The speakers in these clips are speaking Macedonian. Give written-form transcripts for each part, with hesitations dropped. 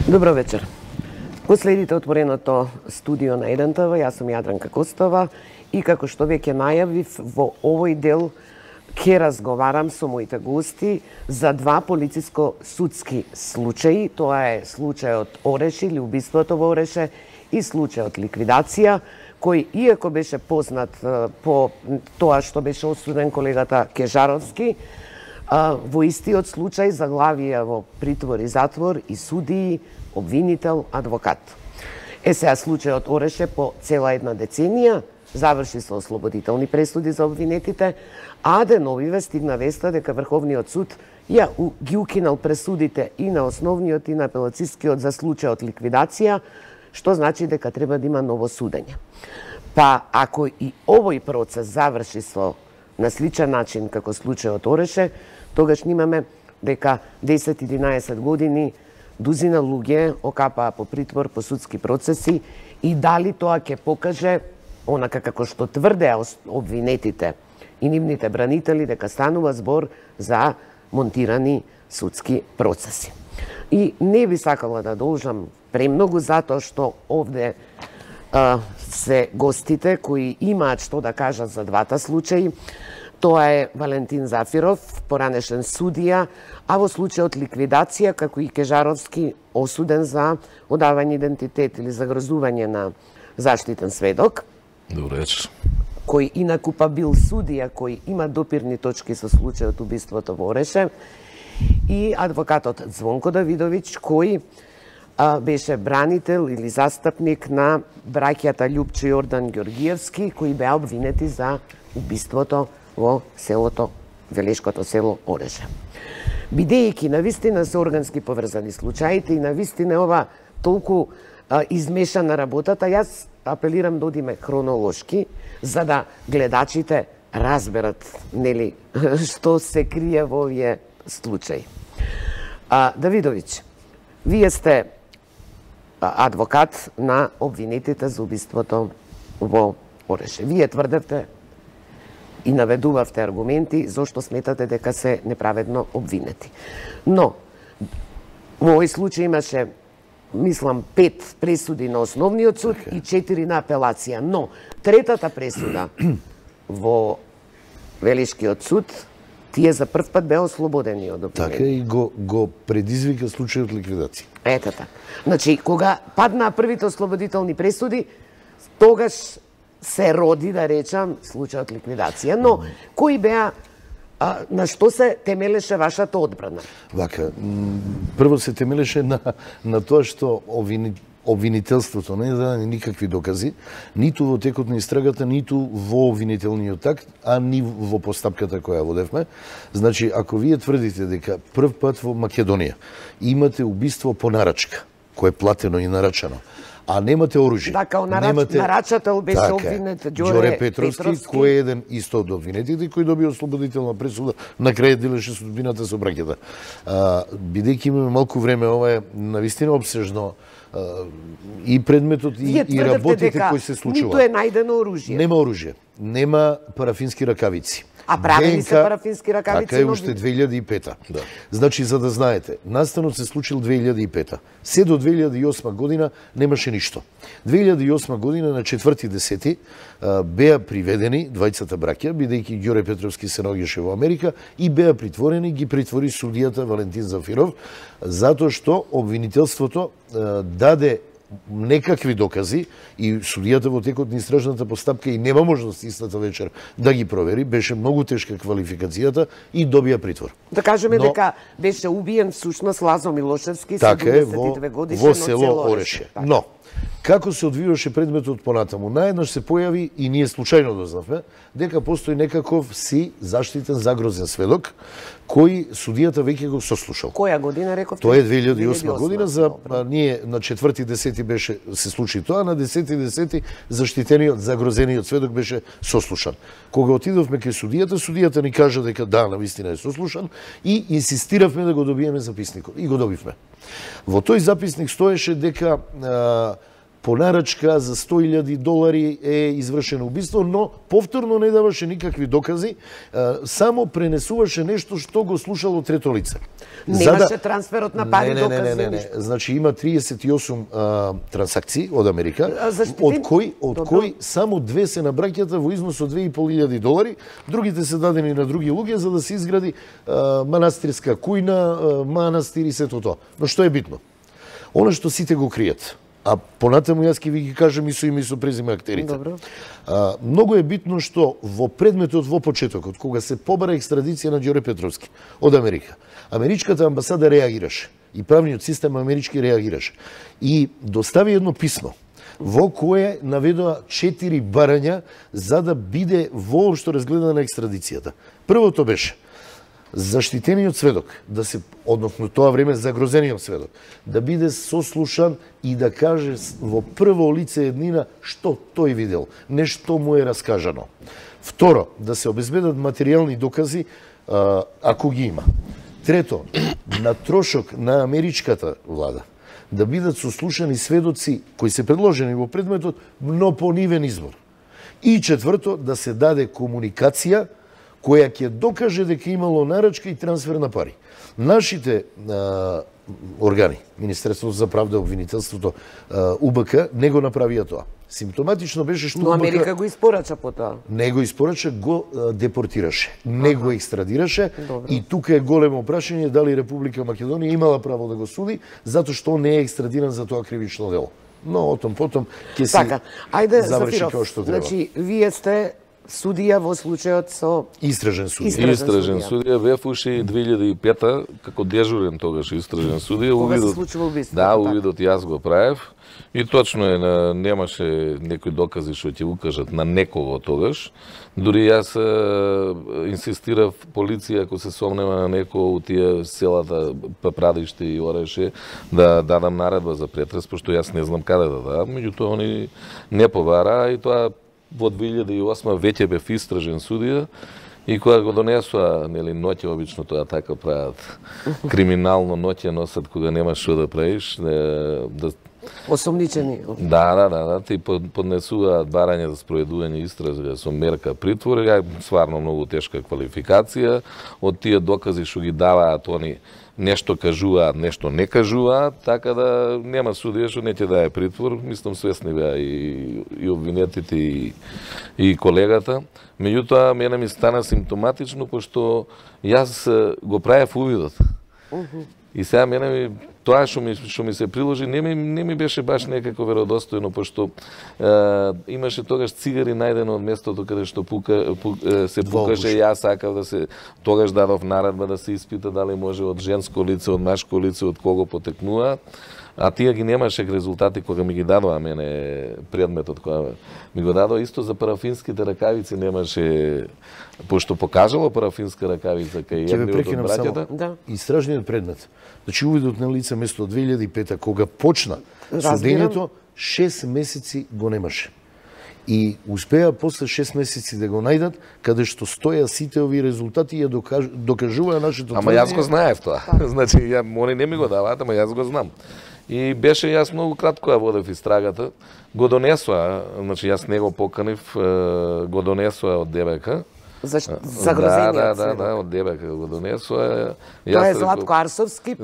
Добро вечер. Го следите отвореното студио на 1ТВ, јас сум Јадранка Костова и како што веќе најавив, во овој дел ќе разговарам со моите гости за два полициско-судски случаи. Тоа е случајот Ореше или убиството во Ореше и случајот ликвидација, кој иако беше познат по тоа што беше осуден колегата Кежаровски, во истиот случај заглавија во притвор и затвор и судии, обвинител, адвокат. Сега случајот Ореше по цела една деценија заврши со ослободителни пресуди за обвинетите, а деновиве стигна веста дека Врховниот суд ги укинал пресудите и на основниот и на апелацискиот за случајот ликвидација, што значи дека треба да има ново судење. Па ако и овој процес заврши на сличен начин како случајот Ореше, тогаш имаме дека 10-11 години дузина луѓе окапаа по притвор, по судски процеси и дали тоа ќе покаже, онака како што тврдеа обвинетите и нивните бранители, дека станува збор за монтирани судски процеси. И не би сакала да должам премногу затоа што овде се гостите кои имаат што да кажат за двата случаи. Тоа е Валентин Зафиров, поранешен судија, а во случајот ликвидација, како и Кежаровски, осуден за одавање идентитет или загрозување на заштитен сведок. Добро вечер. Кој инакупа бил судија, кој има допирни точки со случајот убиството во Ореше, и адвокатот Звонко Давидовиќ, кој беше бранител или застапник на браќата Љупчо и Јордан Ѓоргиевски, кои беа обвинети за убиството во селото, Велешкото село Ореше. Бидејќи навистина се органски поврзани случаите и навистина ова толку измешана работата, јас апелирам да одиме хронолошки, за да гледачите разберат, нели, што се крие во овие случаи. Давидовиќ, вие сте адвокат на обвинетите за убиството во Ореше. Вие тврдевте и наведувавте аргументи зошто сметате дека се неправедно обвинети. Но, во овој случај имаше, мислам, 5 пресуди на основниот суд и 4 на апелација. Но, третата пресуда во Велешкиот суд, тие за прв пат беа ослободени од обвинение. Така и го предизвика случајот ликвидација. Ето така. Значи, кога паднаа првите ослободителни пресуди, тогаш се роди, да речам, случајот ликвидација. Но, кои беа, на што се темелеше вашата одбрана? Вака, прво се темелеше на тоа што обвинителството не даде никакви докази, ниту во текот на истрагата, ниту во обвинителниот акт, а ни во постапката која водевме. Значи, ако вие тврдите дека прв пат во Македонија имате убиство по нарачка, кое е платено и нарачано, а немате оружје. Да, као нарачател беше обвинет Ѓоре Петровски, кој е еден исто од обвинетите, кој доби ослободителна пресуда, на крај делеше судбината со браќата. Бидејќи имаме малку време, ова е навистина обсежно и предметот и работите кои се случуваат. Ниту е најдено оружје. Нема оружје, нема парафински ракавици. А правени се парафински ракавици? Така е уште 2005-та. Да. Значи, за да знаете, настанот се случил 2005-та. Се до 2008 година немаше ништо. 2008 година на 4.10 беа приведени двајцата браќа, бидејќи Ѓоре Петровски се наоѓаше во Америка, и беа притворени, ги притвори судијата Валентин Зафиров, затоа што обвинителството даде некакви докази и судијата во текот на истражната постапка и нема можност истата вечер да ги провери, беше многу тешка квалификацијата и добија притвор. Да кажеме дека беше убиен всушност Лазо Милошевски, 72 годишен, во село Ореше. Но, како се одвиваше предметот понатаму? Наеднаш се појави, и ние случајно дознавме, дека постои некаков заштитен загрозен сведок, кој судијата веќе го сослушал. Која година рековте? Тоа е 2008 година, за ние на 4.10 беше се случи тоа, на 10.10 заштитениот, загрозениот сведок беше сослушан. Кога отидовме кај судијата ни кажа дека да, навистина е сослушан и инсистиравме да го добиеме записникот и го добивме. Во тој записник стоеше дека по нарачка за $100,000 е извршено убиство, но повторно не даваше никакви докази, само пренесуваше нешто што го слушало трето лице. Немаше трансферот на пари, докази. Не. Значи има 38 трансакции од Америка, од кои само 2 се на браќата во износ од $2,500, другите се дадени на други луѓе за да се изгради манастирска кујна, манастир и сето тоа. Но што е битно? Она што сите го кријат. А понатаму јас ќе ви ги кажам и со име и со презиме актерите. Многу е битно што во предметот во почетокот, кога се побара екстрадиција на Ѓоре Петровски од Америка, америчката амбасада реагираше и правниот систем амерички реагираше и достави едно писмо во кое наведоа 4 барања за да биде воопшто разгледана екстрадицијата. Првото беше заштитениот сведок, да се, односно тоа време загрозениот сведок, да биде сослушан и да каже во прво лице еднина што тој видел, не што му е раскажано. Второ, да се обезбедат материјални докази, ако ги има. Трето, на трошок на америчката влада, да бидат сослушани сведоци кои се предложени во предметот, но по нивен избор. И четврто, да се даде комуникација која ќе докаже дека имало нарачка и трансфер на пари. Нашите органи, Министерството за правда, обвинителството, УБК, не го направија тоа. Симптоматично беше што Но Америка го испорача по тоа. Не го испорача, го депортираше. Не го екстрадираше. И тука е големо прашање дали Република Македонија имала право да го суди, затоа што не е екстрадиран за тоа кривично дело. Но отом потом ќе се заврши како што треба. Значи, вие сте судија во случајот со истражен судија. Истражен судија бев уши 2005 како дежурен тогаш истражен судија. Кога се случува убиството? Да, увидот јас го правев. И точно е, немаше некои докази што ќе укажат на некого тогаш. Дури јас инсистирав полиција, ако се сомнева на некој од тие селата Папрадиште и Ореше, да дадам наредба за претрес, пошто јас не знам каде да дадам. Меѓутоа, они не побара и тоа во 2008 веќе бев истражен судија и кога го донесоа, нели, ноќе обично тоа така прават, криминално ноќе носат кога немаш што да правиш, да осомничени. Да, ти поднесуваат барање за спроведување истража со мерка притвор, стварно многу тешка квалификација, од тие докази што ги даваат они нешто кажуваат, нешто не кажуваат, така да нема судија што не ќе даде притвор, мислам свесни беа и обвинетите и колегата. Меѓутоа, мене ми стана симптоматично, пошто јас го правев увидот. И сега мене тоа што ми се приложи не ми беше баш некако веродостојно, пошто имаше тогаш цигари најдено од местото каде што се пукаше. Јас сакав да се тогаш дадов наредба да се испита дали може од женско лице, од машко лице, од кого потекнува. А тие ги немаше резултати кога ми ги дадоа мене предметот, кога ми го дадоа исто за парафинските ракавици немаше, пошто покажало парафинска ракавица кај едниот од браќата. Истражниот предмет. Значи увидот на лице место 2005 кога почна судењето, 6 месеци го немаше. И успеа после 6 месеци да го најдат, каде што стоја сите овие резултати и ја докажува нашето тврдење. Ама јас го знаев тоа. Значи, они не ми го даваат, ама јас го знам. И беше јас многу кратко ја водев истрагата. Го донесоа, значи јас не го поканив, го донесоа од ДБК. Загрозениот сведок. Да, од ДБК го донесоа. Тоа е Златко Арсовски,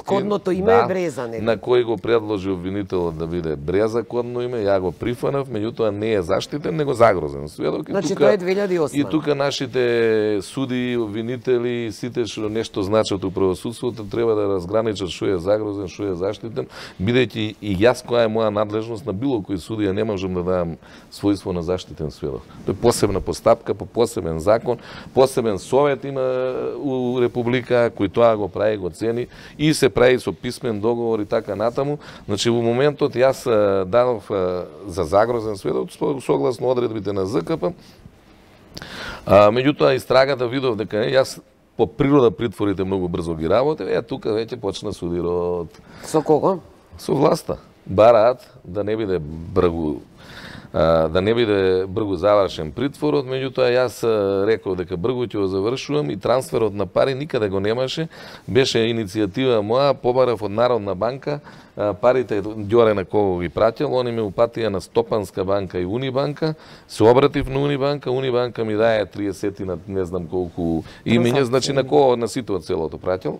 кодното име е Бреза. На кој го предложи обвинителот да биде Бреза кодно име, ја го прифанав, меѓутоа не е заштитен, него загрозен сведок. Значи тоа е 2008. И тука нашите суди, обвинители, сите што нешто значат у правосудството, треба да разграничат што е загрозен, што е заштитен, бидејќи и јас која е моја надлежност на било кој судија не можам да дадам својство на заштитен сведок. Тоа е посебна постапка, посебен закон, посебен совет има у Република, кој тоа го прави, го цени и се прави со писмен договор и така натаму. Значи, во моментот јас дадов за загрозен сведок согласно одредбите на ЗКП. Меѓутоа, истрагата видов дека јас по природа притворите многу брзо ги работев, тука веќе почна судирот. Со кого? Со власта. Бараат да не биде бргу да не биде бргу завршен притворот, меѓутоа јас реков дека бргу ќе го завршувам и трансферот на пари никаде го немаше, беше иницијатива моја, побарав од Народна банка, парите Ѓоре на кого ги пратил, они ме упатија на Стопанска банка и Унибанка, се обратив на Унибанка, Унибанка ми даje 30 на не знам колку имиња, значи на кого на сите од селото пратил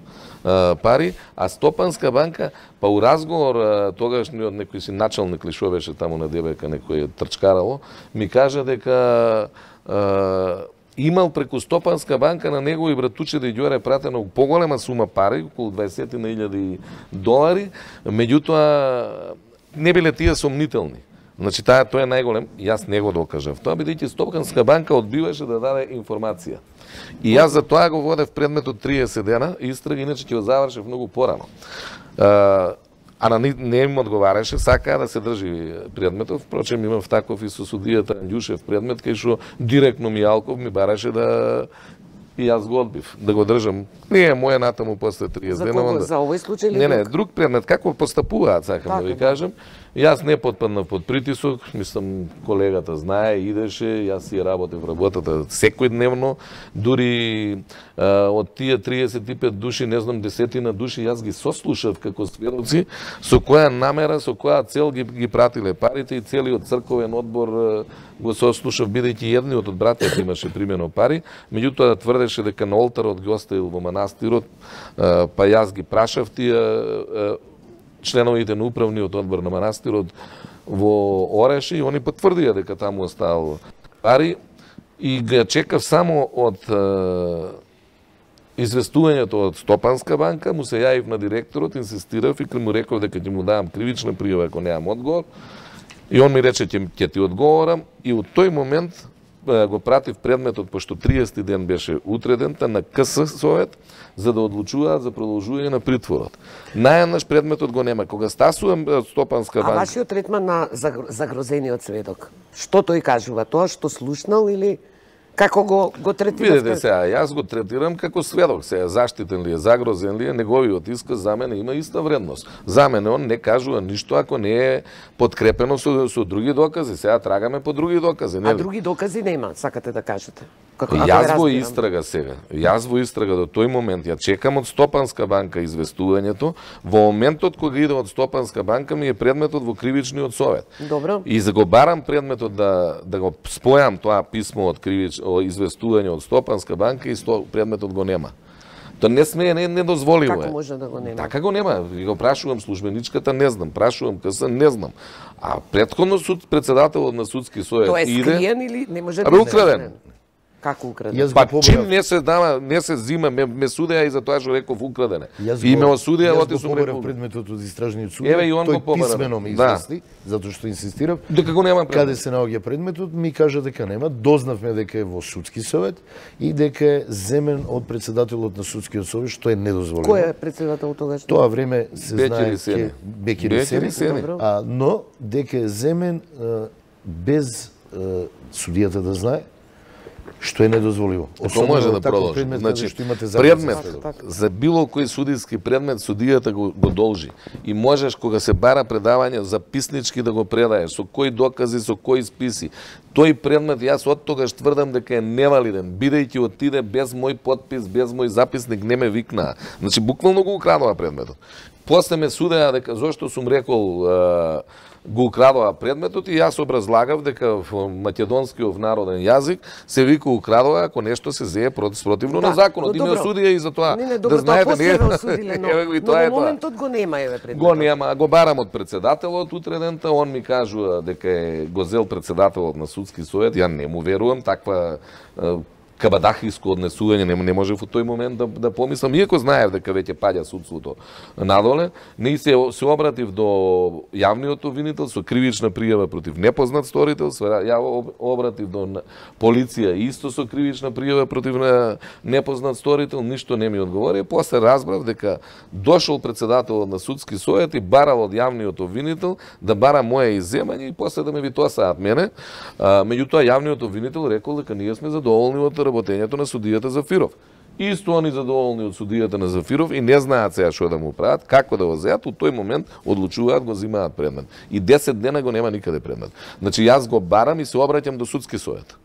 пари, а Стопанска банка, па у разговор тогашниот некој си началник ли шо беше таму на ДБК, некој трчкарало, ми кажа дека имал преку Стопанска банка на негови братуче да Ѓоре пратено поголема сума пари, околу 20.000 долари, меѓутоа не биле тие сомнителни. Значи тој е најголем, јас не го докажав тоа, бидејќи Стопанска банка одбиваше да даде информација. И јас за тоа го водев предметот 30 дена, истрага, иначе ќе го завршев многу порано. А не им одговараше, сакаа да се држи предметот, впрочем имав таков и со судијата Андјушев предмет, кај што директно Мијалков ми бараше да и јас го одбив, да го држам. Не е моја натаму после 30 дена. За кого? За овој случај или Не, друг предмет. Како постапуваат, сакам да ви кажам. Јас не потпаднав под притисок, мислам колегата знае, идеше, јас си работев работата секојдневно, дури од тие 35 души, не знам, десетина души, јас ги сослушав како сведоци, со која намера, со која цел ги пратиле парите и целиот црковен одбор го сослушав, бидејќи едниот од братјата имаше примено пари, меѓутоа тврдеше дека на олтарот ги оставил во манастирот, па јас ги прашав тие членовите на управниот одбор на манастирот во Ореши и они потврдија дека таму оставил пари и ги чекав само од известувањето од Стопанска банка, му се јавив на директорот, инсистирав и му реков дека ќе му давам кривична пријава ако немам одговор. И он ми рече ќе ти одговорам и од тој момент го пратив предметот, пошто 30 ден беше утредента на КС совет, за да одлучуваат за продолжување на притворот. Наједнаш предметот го нема. Кога стасувам Стопанска банка... А вашиот третман на загрозениот сведок, што тој кажува? Тоа што слушнал или како го третира? Видете сега, јас го третирам како сведок. Сега заштитен ли е, загрозен ли е, неговиот исказ за мене има иста вредност. За мене он не кажува ништо ако не е подкрепено со други докази. Сега трагаме по други докази. А други докази нема, сакате да кажете? Јас во истрага сега. Јас во истрага до тој момент. Ја чекам од Стопанска банка известувањето. Во моментот кога иде од Стопанска банка ми е предметот во кривичниот совет. Добро. И за го барам предметот да го спојам тоа писмо од известување од Стопанска банка и предметот го нема. Тоа не смее, не дозволиво е. Како може да го нема? Така го нема. Го прашувам службеничката, не знам. Прашувам КС, не знам. А претходно председателот на судски совет тоа е иде... скриен или не може да биде украден? Како украден? Па чим не се дава, не се зима, ме судеа и за тоа што реков украдене. И ме осудија, оти сум рекол. Предметот од истражниот суд. Еве и он го побара. Писмено ми извести, затоа што инсистирав. Дека го нема предмет. Каде се наоѓа предметот, ми кажа дека нема. Дознавме дека е во судски совет и дека е земен од председателот на судскиот совет, што е недозволено. Кој е председател тогаш? Тоа време се знае Бекири Сени. Но дека е земен без судијата да знае, што е недозволиво. Тоа може да продолжи. Значи, предмет за било кој судиски предмет судијата го должи. И можеш кога се бара предавање записнички да го предаеш, со кои докази, со кои списи. Тој предмет јас од тогаш тврдам дека е невалиден, бидејќи отиде без мој подпис, без мој записник, не ме викнаа. Значи буквално го украдува предметот. После ме судеа дека зошто сум рекол го украдува предметот и јас образлагав дека во македонскиот народен јазик се вика украдува ако нешто се зее спротивно на законот. И ме осудија и за тоа. Да знаете, не но во моментот го нема еве предметот. Го нема, го барам од председателот утредента, он ми кажува дека е го зел председателот на судски совет, ја не му верувам, таква кабадахиско однесување не може во тој момент да помислам, иако знаев дека веќе паѓа судството надоле, не се обратив до јавниот обвинител со кривична пријава против непознат сторител, ја обратив до полиција исто со кривична пријава против непознат сторител, ништо не ми одговори. После разбрав дека дошол председателот на судски совет и барал од јавниот обвинител да бара моje изземање и после да ме витосаат мене. Меѓутоа јавниот обвинител рекол дека ние сме задоволни од работењето на судијата Зафиров. Исто они задоволни од судијата на Зафиров и не знаат сега што да му прават, како да го зеат, у тој момент одлучуваат, го зимаат предмет. И 10 дена го нема никаде предмет. Значи јас го барам и се обраќам до судски совет.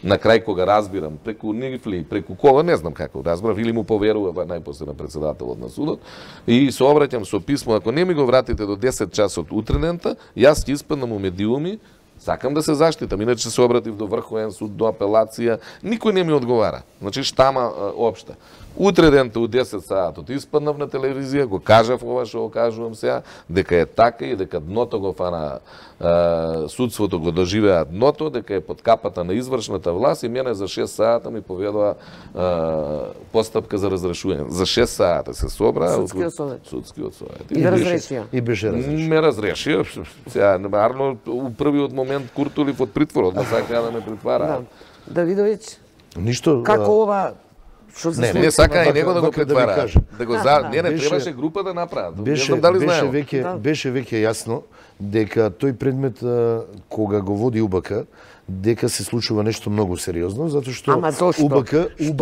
На крај кога разбирам, преку Нифли, преку кога, не знам како разбрав, или му поверува најпосле на председателот на судот, и се обраќам со писмо, ако не ми го вратите до 10 часот утренента, јас ќе испаднам у медиуми, сакам да се заштитам, иначе се обратив до Врховен суд, до апелација, никој не ми одговара. Значи штама општа. Утре дента у 10 саатот испаднав на телевизија, го кажав ова што го кажувам сега, дека е така и дека дното го фана судството, го доживеа дното, дека е под капата на извршната власт и мене за 6 саата ми поведува постапка за разрешување. За 6 саата се собра Судскиот совет. Судскиот совет. И разрешија. И беше разрешен. Ме разрешија. Сега, нарно, у првиот момент Куртулив од притворот, ма сакаја да ме притвараат. Давидовиќ, Ништо. како ова што се Не сака и него да го вака да ви претвара. кажам. Да го не, Беше- требаше група да направат. Не Беше знам дали беше знаеме. веќе беше веќе јасно дека тој предмет кога го води УБК дека се случува нешто многу сериозно затоа што Ама зошто? УБК им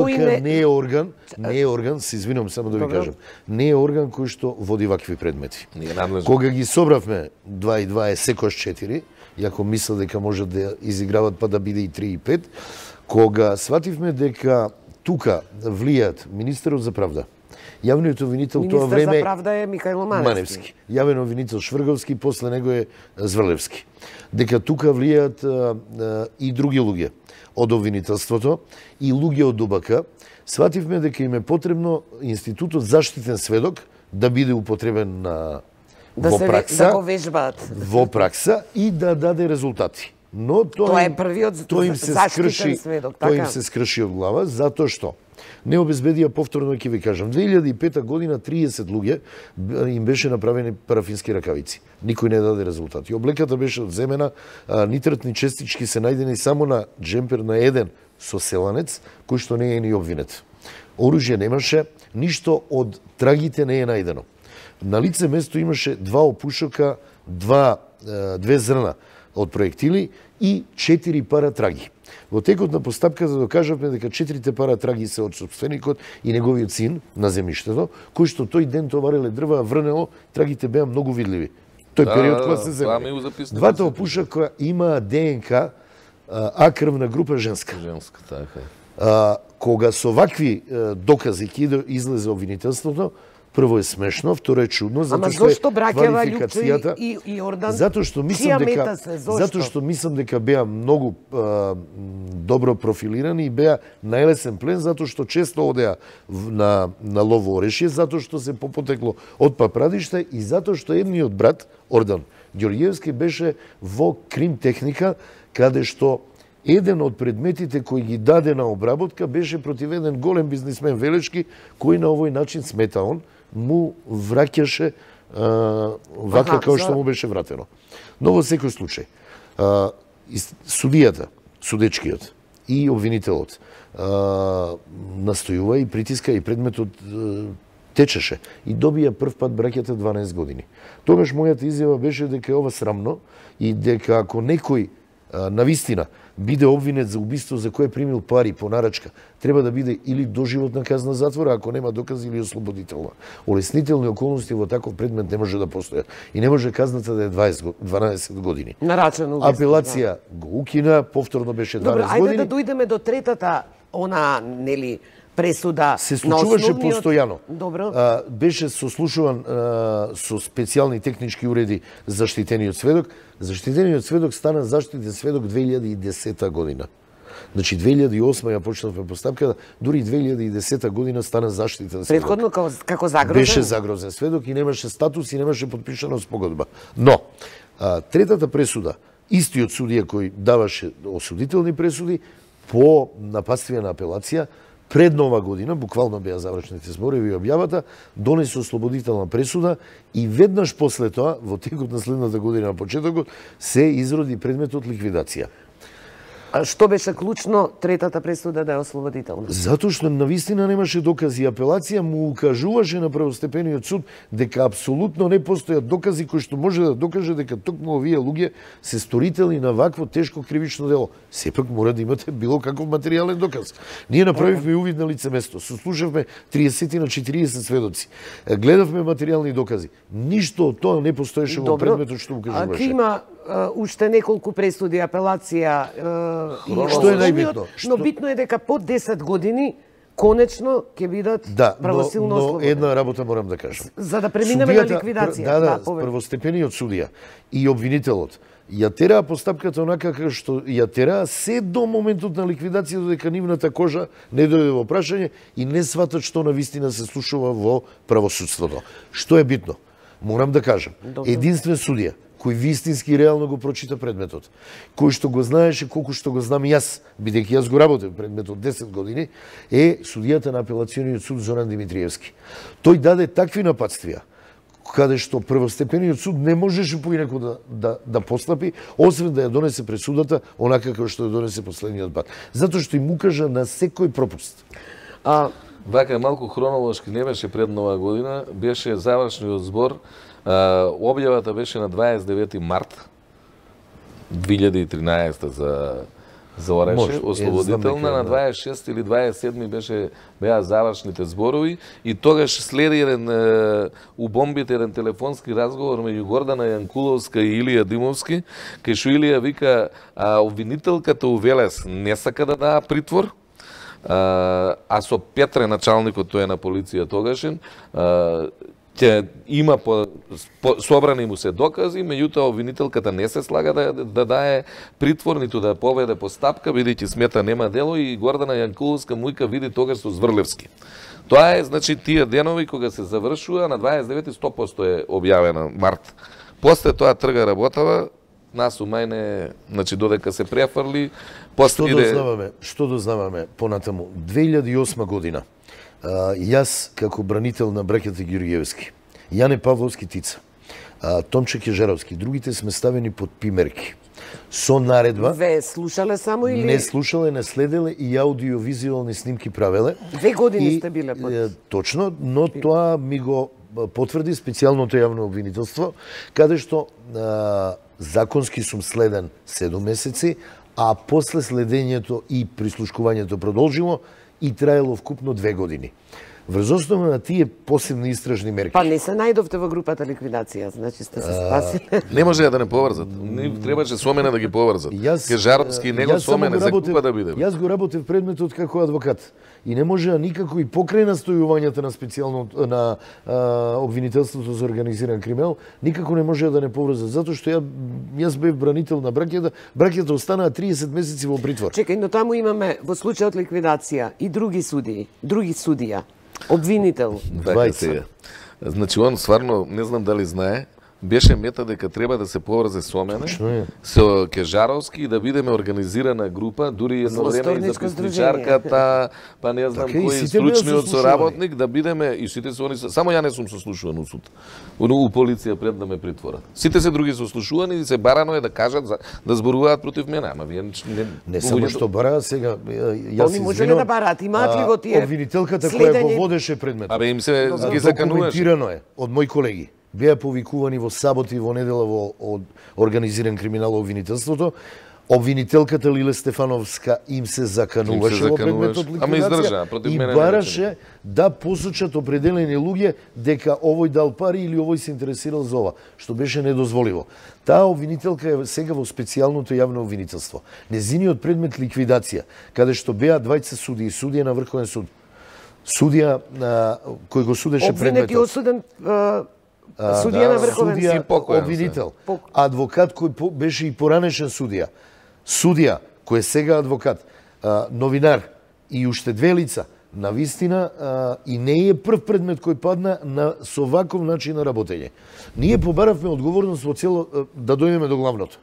не е орган, се извинувам само да ви Добро. кажам, не е орган кој што води вакви предмети. Ние надлежни. Кога ги собравме 2 и 2 е секојаш 4, иако мислел дека може да изиграват па да биде и 3 и 5, кога свативме дека тука влијат министерот за правда, јавниот обвинител тоа Министер време за правда е Михајло Маневски. јавен обвинител Шврговски, после него е Зврлевски. Дека тука влијат и други луѓе од обвинителството и луѓе од УБК, свативме дека им е потребно институтот заштитен сведок да биде употребен Да во се пракса, да го вежбаат. во пракса и да даде резултати. Но Тоа е првиот заштитен сведок, Тоа им така? се скрши од глава затоа што не обезбедија повторно, ќе ви кажам, 2005 година 30 луѓе им беше направени парафински ракавици. Никој не даде резултати. Облеката беше одземена, нитратни честички се најдени само на джемпер на еден соселанец, кој што не е ни обвинет. Оружје немаше, ништо од трагите не е најдено. На лице место имаше 2 опушока, 2 зрна од проектили и 4 пара траги. Во текот на постапката докажавме дека 4 пара траги се од собственикот и неговиот син на земјиштето, кој што тој ден товареле дрва, врнело, трагите беа многу видливи. Тој период кога се тоа ми земе. го записна. Двата опушака имаа ДНК, А крвна група женска. Женска, така. Кога со вакви докази ќе излезе обвинителството, прво е смешно, второ е чудно, Ама затоа што зошто браќава квалификацијата Лјупчо и Јордан? Затоа што мислам чија дека мета се, зошто? што мислам дека беа многу добро профилирани и беа најлесен плен затоа што често одеа на лово орешје, затоа што се попотекло од папрадишта и затоа што едниот брат Ордан Ѓорѓевски беше во крим техника каде што еден од предметите кои ги даде на обработка беше против еден голем бизнисмен Велешки, кој на овој начин смета он, му враќаше вака како што му беше вратено. Но во секој случај, судијата, судечкиот и обвинителот настојува и притиска и предметот течеше и добија прв пат браќата 12 години. Тогаш мојата изјава беше дека е ова срамно и дека ако некој навистина биде обвинет за убиство за кое примил пари по нарачка, треба да биде или доживотна казна затвора, ако нема докази, или ослободителна. Олеснителни околности во таков предмет не може да постојат. И не може казната да е 12 години. Нарачено убиство. Апелација го укина, повторно беше 12 Добро, ајде години. да дојдеме до третата, нели, пресуда Се на случуваше основниот... постојано. Добро. Беше сослушуван со специјални технички уреди заштитениот сведок. Заштитениот сведок стана заштитен сведок 2010 година. Значи 2008 ја почнавме постапката, дури 2010 година стана заштитен сведок. Претходно како загрозен? Беше загрозен сведок и немаше статус и немаше подпишана спогодба. Но, третата пресуда, истиот судија кој даваше осудителни пресуди, по нападствена апелација, пред нова година, буквално беа завршените зборови и објавата, донесе ослободителна пресуда и веднаш после тоа, во текот на следната година на почетокот, се изроди предметот ликвидација. А што беше клучно третата пресуда да е ослободителна? Затоа што навистина немаше докази. Апелација му укажуваше на првостепениот суд дека апсолутно не постојат докази кои што може да докаже дека токму овие луѓе се сторители на вакво тешко кривично дело. Сепак мора да имате било каков материјален доказ. Ние направивме увид на лице место, сослушавме 30 на 40 сведоци. Гледавме материјални докази. Ништо од тоа не постоеше во предметот што укажуваше. Ако има уште неколку пресуди, апелација што е најбитно? Но битно е дека по 10 години конечно ќе бидат правосилно ослободени. Но една работа морам да кажам. За да преминеме на ликвидација. Првостепениот судија и обвинителот ја тераа постапката онака како што ја тераа се до моментот на ликвидација, додека нивната кожа не дојде во прашање и не сватат што навистина се слушува во правосудството. Што е битно? Морам да кажам, единствен судија кој вистински реално го прочита предметот, кој што го знаеше колку што го знам јас, бидејќи јас го работев предметот 10 години, е судијата на апелациониот суд Зоран Димитриевски. Тој даде такви нападствија, каде што првостепениот суд не можеше поинаку да постапи, освен да ја донесе пресудата онака како што ја донесе последниот пат. Затоа што им укажа на секој пропуст. Вака малку хронолошки не беше пред Нова година, беше завршниот збор. Објавата беше на 29 март 2013 за Ореше, ослободителна, на 26 или 27 беа завршните зборови и тогаш следи еден убомбите еден телефонски разговор меѓу Гордана Јанкуловска и Илија Димовски, кај што Илија вика обвинителката Увелес не сака да даа притвор, а со Петре, началникот тој е на полиција тогашен, ќе има собрани му се докази, меѓутоа обвинителката не се слага да дае притвор, ниту да поведе постапка, бидејќи смета нема дело и Гордана Јанкуловска му вика види тогаш со Зврлевски. Тоа е, значи, тие денови кога се завршува, на 29 100% е објавена март. После тоа трга работава, нас у мајне, значи додека се префрли, Што дознаваме понатаму? 2008 година. Јас, како бранител на браќата Ѓурѓевски, Јане Павловски Тица, Томче Кежаровски, другите сме ставени под пимерки. Со наредба... Ве слушале само или... Не слушале, не следеле и аудиовизуални снимки правеле. 2 години сте биле под... Точно, но тоа ми го потврди специјалното јавно обвинителство, каде што законски сум следен 7 месеци, а после следењето и прислушкувањето продолжило и траело вкупно 2 години. Врз основа на тие посебни истражни мерки. Па не се најдовте во групата ликвидација, значи сте се спасиле. Не може да не поврзат. Не требаше со мене да ги поврзат. Кежаровски него со мене за купа да биде. Јас го работев предметот како адвокат и не можеа никако и покрај настојувањата на специјално на обвинителството за организиран криминал, никако не можеа да не поврзат, затоа што јас бев бранител на браќата, браќата останаа 30 месеци во притвор. Чекај, но таму имаме во случајот ликвидација и други судија. Обвинител. Двајца. Значи, он стварно, не знам дали знае, беше мета дека треба да се поврзе со мене, со Кежаровски и да бидеме организирана група, дури едно време и записничарката, па не знам кој стручниот соработник, да бидеме, и сите се они, само ја не сум сослушуван у суд, у полиција пред да ме притворат. Сите се други сослушувани и се барано е да кажат, да зборуваат против мене, ама вие не само што бараат сега, јас се можеле да бараат, имаат ли го тие обвинителката која го водеше предметот. Абе им се ги закануваше. Документирано е од мои колеги. Беа повикувани во сабота и во недела од организиран криминал обвинителството. Обвинителката Лиле Стефановска им се закануваше во предметот ликвидација и бараше да посочат определени луѓе дека овој дал пари или овој се интересирал за ова, што беше недозволиво. Таа обвинителка е сега во специјалното јавно обвинителство. Незиниот предмет ликвидација, каде што беа двајца судии, судија на Врховен суд, судија кој го судеше предметот. Обвинет и осуден судија на Врховен суд, обвинител, адвокат кој беше и поранешен судија кој е сега адвокат, новинар и уште 2 лица, навистина и не е прв предмет кој падна со ваков начин на работење. Ние побаравме одговорност во цело да дојдеме до главното.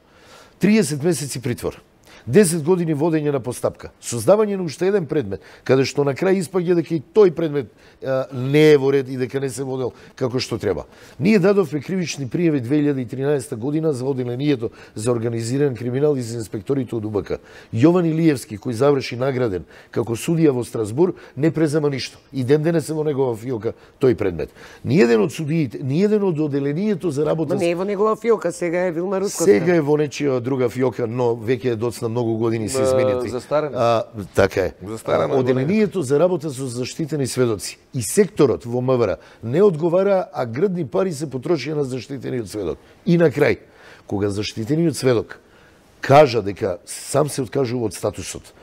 30 месеци притвор. 10 години водење на постапка, создавање на уште еден предмет, каде што на крај испаѓа дека и тој предмет не е во ред и дека не се водел како што треба. Ние дадовме кривични пријави 2013 година за одделението за организиран криминал и за инспекторите од УБК. Јован Илиевски, кој заврши награден како судија во Страсбур, не презема ништо. И ден денес е во негова фиока тој предмет. Ниеден од судиите, ниеден од одделението за работа... Но не е во негова фиока, сега е Вилма Русковска. Сега е во нечија друга фиока, но веќе е доцна многу години се изменети. Застарено. Така е. Одделението за работа со заштитени сведоци и секторот во МВР не одговара, а грдни пари се потрошија на заштитениот сведок. И на крај, кога заштитениот сведок кажа дека сам се откажува од статусот,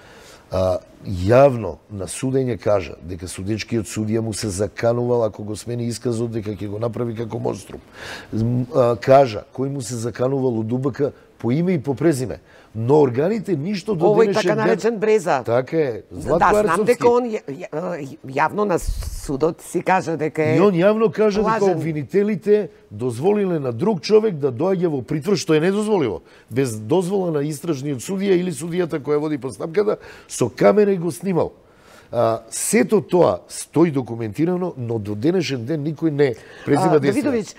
јавно на судење кажа дека судечкиот судија му се заканувал ако го смени исказот дека ќе го направи како монструм. Кажа кој му се заканувал од УБК по име и по презиме. Но органите ништо до денешен ден... Овој така наречен Бреза. Така е. Златко Арцовски. Да, знам дека он јавно на судот си кажа дека е... И он јавно кажа лажен. дека обвинителите дозволиле на друг човек да доаѓа во притвор, што е недозволиво. Без дозвола на истражниот судија или судијата која води постапката, со камера го снимал. Сето тоа стои документирано, но до денешен ден никој не презима действија. Давидовиќ,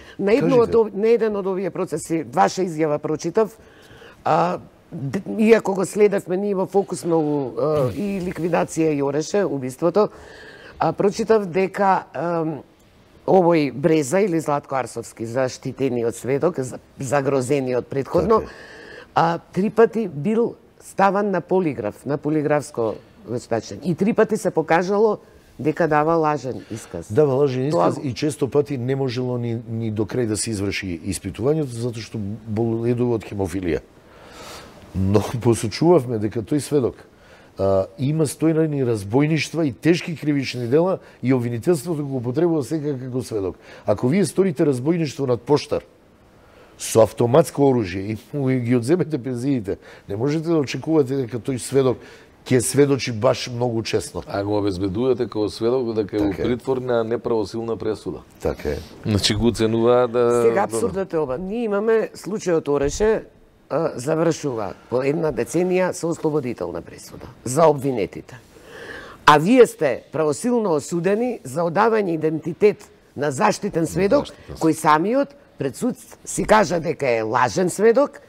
на еден од овие процеси, ваша изјава прочитав, иако го следевме ние во фокус многу и ликвидација Јореше, убиството, прочитав дека овој Бреза или Златко Арцовски, заштитениот сведок, загрозениот предходно, 3 пати бил ставан на полиграф, на полиграфско вештачење. И 3 пати се покажало дека дава лажен исказ. Дава лажен исказ и често пати не можело ни до крај да се изврши испитувањето, затоа што боледува од хемофилија. Но посочувавме дека тој сведок има стојнани разбойништва и тешки кривични дела и обвинителството го употребува сега како сведок. Ако вие сторите разбойништво над поштар со автоматско оружје и ги одземете пензиите, не можете да очекувате дека тој сведок ќе сведочи баш многу честно. А го обезбедувате како сведок дека е во притвор на неправосилна пресуда. Така е. Значи го оценува да... Сега абсурдот е ова. Ние имаме случајот Ореше, завршува по 1 деценија со ослободителна пресуда за обвинетите. А вие сте правосилно осудени за одавање идентитет на заштитен сведок, кој самиот пред суд си кажа дека е лажен сведок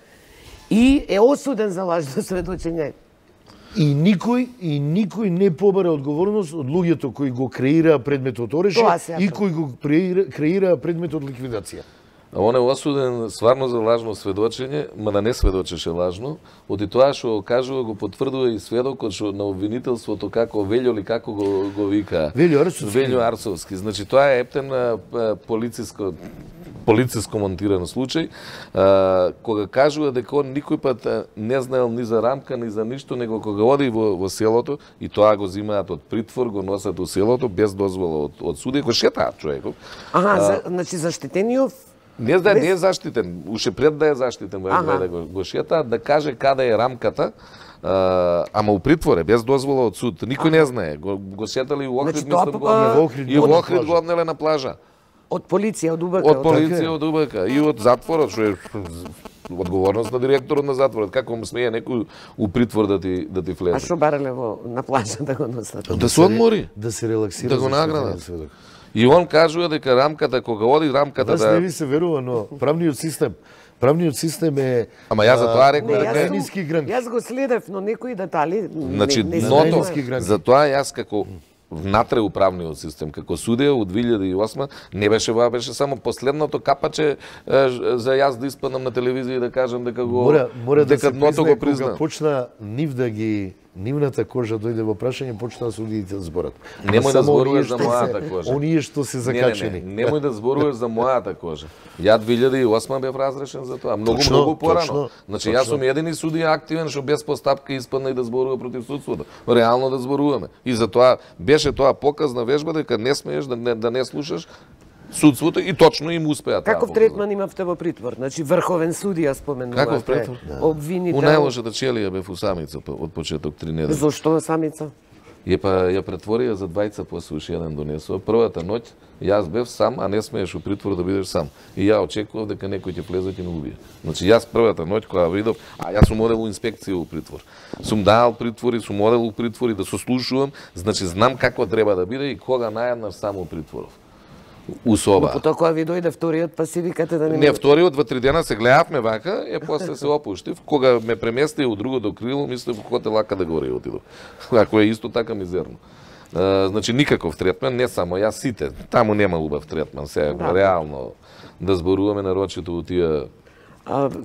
и е осуден за лажно сведочење. И никој не побара одговорност од луѓето кои го креираа предметот Ореше и кои го креираа предметот ликвидација. А он е осуден стварно за лажно сведочење, ма да не сведочеше лажно, од и тоа што кажува го потврдува и сведокот што на обвинителството како Велјо или како го вика Велјо Арцовски. Значи тоа е ептен полициско монтиран случај, кога кажува дека он никој пат не знаел ни за рамка, ни за ништо, него кога оди во селото, и тоа го зимаат од притвор, го носат во селото, без дозвола од суде, го шетаат човеков. Значи заштитениот не е заштитен, уште пред да е заштитен, да го шетаат, да каже каде е рамката, ама у притворе, без дозвола од суд. Никој не знае. Го шетали у Охрид, и во Охрид го однеле на плажа. Од полиција, од УБК. Од полиција, од УБК. И од затворот, што е одговорност на директорот на затворот. Како му смее некој у притвор да ти влезе? А што барале на плажа да го носат? Да се одмори. Да се релаксира. Да го наградат. И он кажува дека рамката, кога оди рамката да... не ви се верува, но правниот систем е... Ама јас за тоа реков дека е ниски гранки. Јас го следев, но некои детали... Значи, дното, за тоа јас како внатре управниот систем, како судија од 2008, не беше тоа, беше само последното капаче за јас да испадам на телевизија и да кажам дека го... Мора да се признае, кога почна нивната кожа дојде во прашање, почнаа судиите да зборат. Немој да зборуваш за мојата кожа. Оние што се закачени. Немој да зборуваш за мојата кожа. Ја 2008 бев разрешен за тоа. Многу порано. Значи јас сум едини судија активен што без постапка испадна и да зборува против судството. Реално да зборуваме. И затоа беше тоа показна вежба дека не смееш да не слушаш судството и точно им успеа тоа. Каков третман имавте во притвор? Значи врховен судија споменувате. Каков притвор? Обвинител. У најлошата челија бев у самица од почеток 3 недели. Зошто самица? Ја претворија за двајца после уште еден донесува. Првата ноќ јас бев сам, а не смееш у притвор да бидеш сам. И ја очекував дека некој ќе влезе и ќе ме убие. Значи јас првата ноќ кога видов, а јас сум одел у инспекција у притвор. Сум дал притвори, сум одел у притвори да сослушувам, значи знам како треба да биде и кога наједнаш само у притворов. У соба. Но потоа кога ви дојде вториот, па си викате да не вториот, 2-3 дена се гледавме вака, после се опуштив. Кога ме премести у другото крило, мислев хотел Ака да горе отидов. Ако е исто така мизерно. Значи никаков третман, не само јас, сите. Таму нема убав третман, сега реално да зборуваме нарочито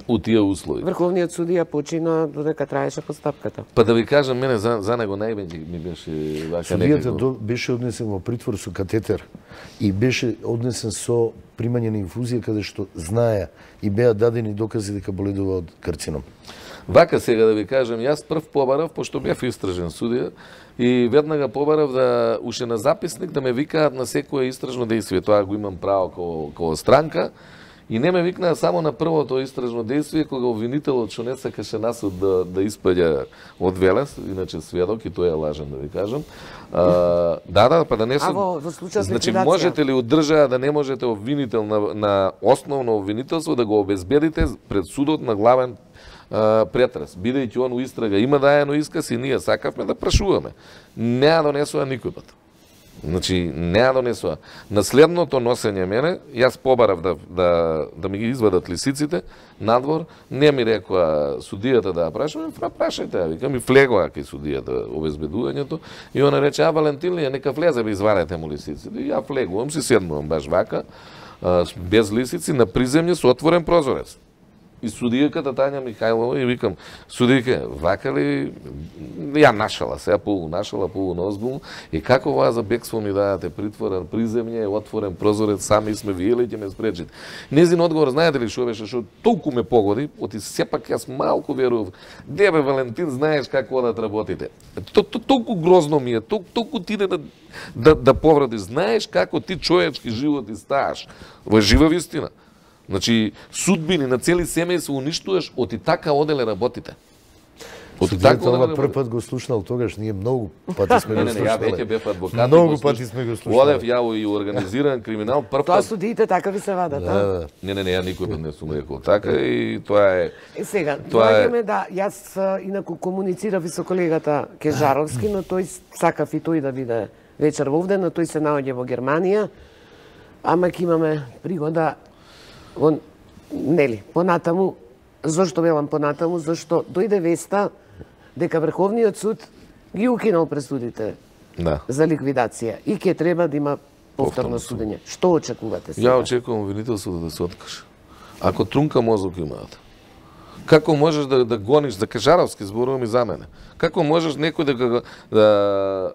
у тие услови. Врховниот судија почина додека траеше постапката. Па да ви кажам, мене за него највеќе ми беше вака некако. Судијата беше однесен во притвор со катетер и беше однесен со примање на инфузија каде што знаеа и беа дадени докази дека боледува од карцином. Вака сега да ви кажам, јас прв побарав, пошто бев истражен судија, и веднага побарав да уште на записник да ме викаат на секое истражно дејствие. Тоа го имам право како странка. И не ме викнаа само на првото истражно дејствие, кога обвинителот што не сакаше насуд да испаѓа од Велес, иначе сведок, и тој е лажен, да ви кажам. Па да не се... во случај значи, можете ли од држава да не можете обвинител на основно обвинителство да го обезбедите пред судот на главен претрес, бидејќи он у истрага има даено исказ и ние сакавме да прашуваме. Не ја донесува никој пат. Значи, не ја донесува. На следното носење мене, јас побарав да ми ги извадат лисиците надвор, не ми рекоа судијата да ја прашувам, прашајте ја, вика, ми влегоа кај судијата обезбедувањето, и она рече, Валентин ли, нека влезе, ви извадете му лисиците. И ја влегувам, си седнувам баш вака, без лисици, на приземје со отворен прозорец. И судијката Тања Михајлова и викам, судијка, вака ли, ја нашала се, полу озбилно, и како вас за бегство ми дадате притворен приземје, отворен прозорец, сами сме виеле и ќе ме спречите. Незин одговор, знаете ли што беше, што толку ме погоди, оти сепак јас малку верував, дебе Валентин, знаеш како одат работите. Толку грозно ми е, толку ти да повради, знаеш како ти човечки живот ставаш. Во жива вистина. Значи, судбини на цели семејства уништуваш, оти така оделе работите. Судијата ова прв пат го слушнал тогаш, ние многу пати сме го слушнале. Ја веќе бев адвокат. Многу пати сме го слушнале. Одев ја и организиран криминал прв пат. Тоа судиите така ви се вадат, а? Не, ја никој пат не сум рекол така и тоа е... Сега, доаѓаме да, јас инаку комуницирав и со колегата Кежаровски, но тој сакав и тој да биде вечер вовде, но тој се наоѓа во Германија, ама ќе имаме пригода нели, понатаму, зошто велам понатаму, зашто дојде веста дека Врховниот суд ги укинал пресудите за ликвидација и ќе треба да има повторно судење. Што очекувате сега? Ја очекувам обвинителството да се откаже. Ако трунка мозок имаат, како можеш да гониш, за Кежаровски зборувам и за мене, како можеш некој да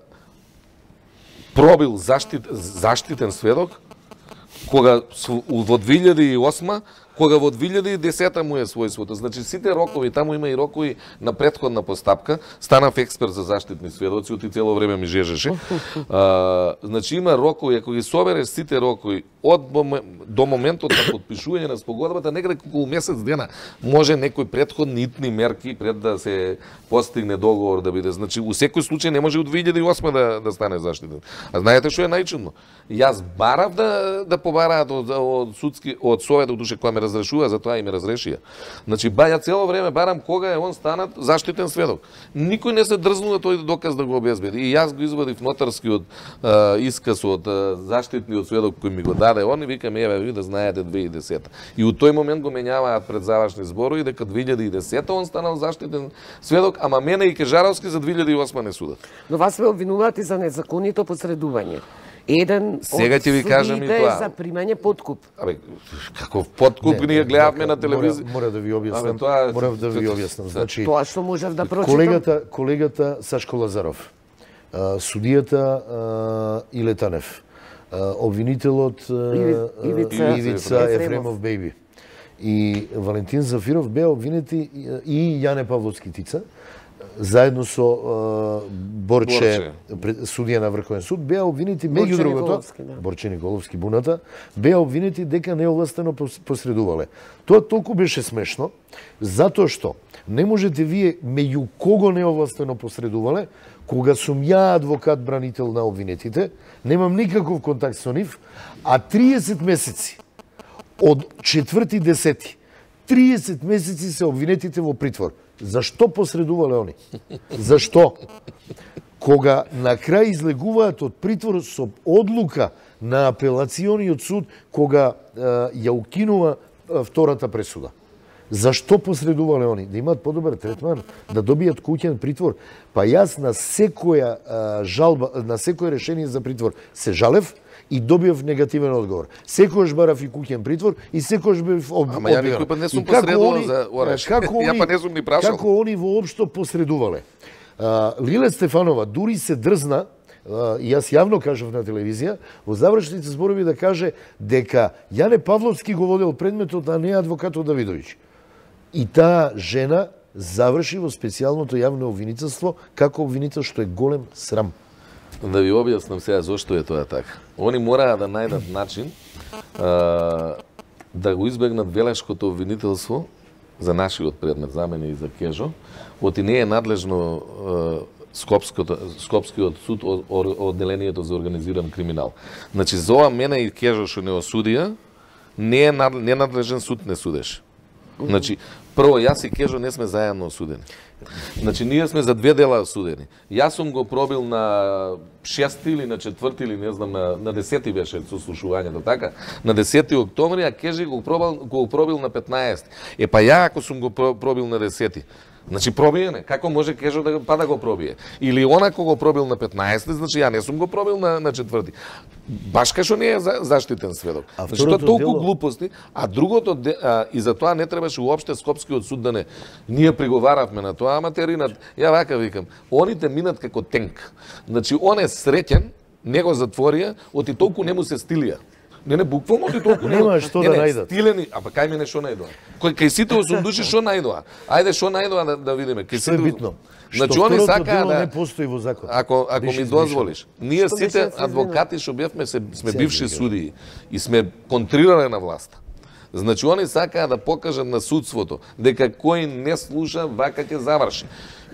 пробил заштитен сведок, кога во 2008, кога во 2010 му е својството. Значи, сите рокови, таму има и рокови на претходна постапка, станав експерт за заштитни сведоци, оти цело време ми жежеше. Значи, има рокови, ако ги собереш сите рокови до моментот на подпишување на спогодбата, некаде околу месец дена може некои претходни итни мерки пред да се постигне договор да биде. Значи, у секој случај не може од 2008 да стане заштитен. А знаете што е најчудно? Јас барав да побараат од Советот, душе која ме разрешува, затоа и ме разрешија. Значи, ја цело време барам кога е он станат заштитен сведок. Никој не се дрзнува тој доказ да го обезбеди. И јас го извадив нотарскиот исказ од заштитниот сведок кој ми го даде он и викам, еве ви да знаете 2010. И у тој момент го менјаваат пред завршни зборови дека 2010 он станал заштитен сведок, ама мене и Кежаровски за 2008 не судат. Но вас ве обвинуваат и за незаконито посредување. Еден сега ќе ви кажам и тоа. За примање подкуп. Абе, каков подкуп ние гледавме на телевизија? Мора да ви објаснам. Мора да ви објаснам. Значи, тоа што можев да прочитам. Колегата Сашко Лазаров, судијата Илетанев, обвинителот Ивица Ефремов Бејби и Валентин Зафиров беа обвинети и Јане Павловски Тица, заедно со Борче, судија на Врховен суд, беа обвинети меѓу другото, Борче Николовски Буната, беа обвинети дека неовластено посредувале. Тоа толку беше смешно, затоа што не можете вие меѓу кого неовластено посредувале, кога сум ја адвокат бранител на обвинетите, немам никаков контакт со нив, а 30 месеци од 4.10. 30 месеци се обвинетите во притвор. Зашто посредувале они? Зашто? Кога на крај излегуваат од притвор со одлука на апелациониот суд, кога ја укинува втората пресуда. Зашто посредувале они? Да имаат подобар третман, да добијат куќен притвор. Па јас на секоја жалба, на секој решение за притвор се жалев и добиев негативен одговор. Секојаш барав и куќен притвор и секојаш бев одбиван. Ама ја никој пат не сум посредувал за ореш. Ја па не сум ни прашал. Како они воопшто посредувале? Лиле Стефанова дури се дрзна, и јас јавно кажав на телевизија, во завршните зборови да каже дека Јане Павловски го водел предметот, а не адвокатот Давидовиќ. И таа жена заврши во специјалното јавно обвинителство како обвинител, што е голем срам. Да ви објаснам сега зошто е тоа така. Они мораа да најдат начин да го избегнат велешкото обвинителство за нашиот предмет, за мене и за Кежо, оти не е надлежно Скопскиот суд, одделението за организиран криминал. Значи, за ова мене и Кежо што не осудија, ненадлежен суд не судеше. Значи, прво, јас и Кежо не сме заедно осудени. Значи, ние сме за 2 дела осудени. Јас сум го пробил на 6 или на 4 или не знам, на 10 беше сослушувањето, така? На 10 октомври, а Кежи го пробил на 15. Е, па ја ако сум го пробил на 10, значи пробиене, како може Кежо да го пробие? Или она кога го пробил на 15, значи ја не сум го пробил на 4. Баш кај што не е заштитен сведок. Значи тоа толку глупости, а другото и за тоа не требаше уопште Скопскиот суд да не. Ние приговаравме на тоа, ама теринат, ја вака викам, оните минат како тенк. Значи он е среќен, него затворија, оти толку не му се стилија. Не, буквално ти толку нема што да најдат. Стилени, а па кај мене што најдоа? Кај сите 8 души што најдоа? Ајде што најдоа да видиме. Што е битно? Значи они сакаа да не постои во закон. Ако ми дозволиш, ние сите адвокати што бевме сме бивши судии и сме контрирале на власта. Значи они сакаа да покажат на судството дека кој не слуша, вака ќе заврши.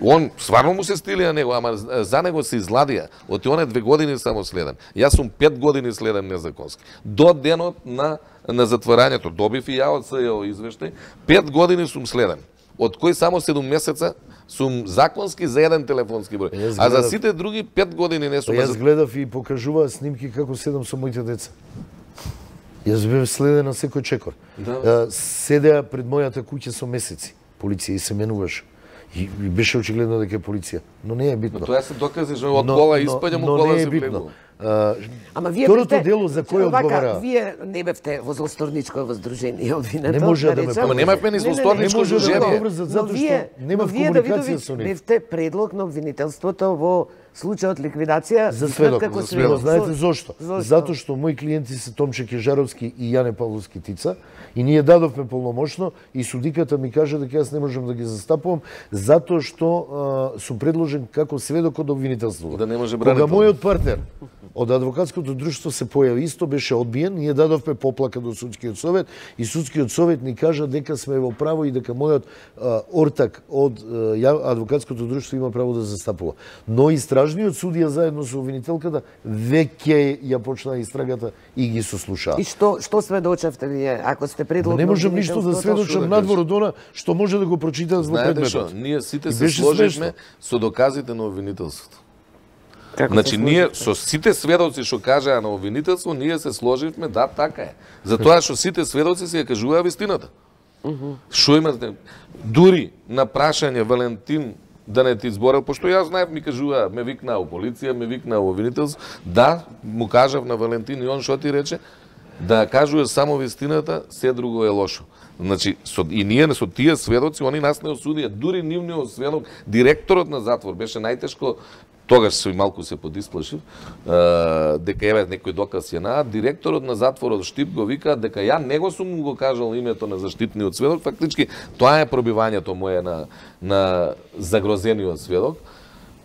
Он стварно му се стилија него, ама за него се изладија. Оти он е 2 години само следен. Јас сум 5 години следен незаконски. До денот на затворањето добив и ја од СЈО извештај, 5 години сум следен. Од кои само 7 месеца сум законски за 1 телефонски број. А за сите други 5 години не сум. Јас гледав и покажуваа снимки како седам со моите деца. Јас бев следен на секој чекор. Да. Седеа пред мојата куќа со месеци. Полиција и се менуваше. И беше очигледно дека е полиција. Но не е битно. Но тоа се докази, што од кола испаѓам, од кола се влегува. Ама вие второто дело за кој одговара? Вие не бевте во злосторничко здружение обвинето. Не може да ме Ама немавме ни злосторничко здружение. Затоа што немав комуникација со нив. Бевте предлог на обвинителството во случајот ликвидација за сведок. како сведок. Знаете зошто? Затоа што мои клиенти се Томче Кежаровски и Јане Павловски Тица и ние дадовме полномошно и судиката ми кажа дека јас не можам да ги застапувам затоа што сум предложен како сведок од обвинителството. Да не може бранител. Кога мојот партнер од адвокатското друштво се појави исто, беше одбиен, ние дадовме поплака до судскиот совет и судскиот совет ни кажа дека сме во право и дека мојот ортак од адвокатското друштво има право да застапува. Но истражниот судија заедно со обвинителката веќе ја почна истрагата и ги сослушаа. И што сведочевте вие, ако сте предлог? Не можам ништо да сведочам надвор од она што може да го прочитат во предметот. Ние сите се сложивме со доказите на обвинителството. Значи, ние со сите сведоци што кажаа на обвинителство, ние се сложивме, да, така е. Затоа што сите сведоци си ја кажуваа вистината. Што имате? Дури на прашање Валентин да не ти зборел, пошто јас знаев, ми кажуваа, ме викнаа у полиција, ме викнаа у обвинителство, да, му кажав на Валентин и он што ти рече, да кажуваш само вистината, се друго е лошо. Значи, и ние со тие сведоци, они нас не осудија, дури нивниот сведок, директорот на затвор, беше најтешко. Тогаш се малку се подисплашив, дека еве некој доказ ја наат, директорот на затворот Штип го вика дека ја него сум го кажал името на заштитниот сведок, фактички тоа е пробивањето мое на загрозениот сведок.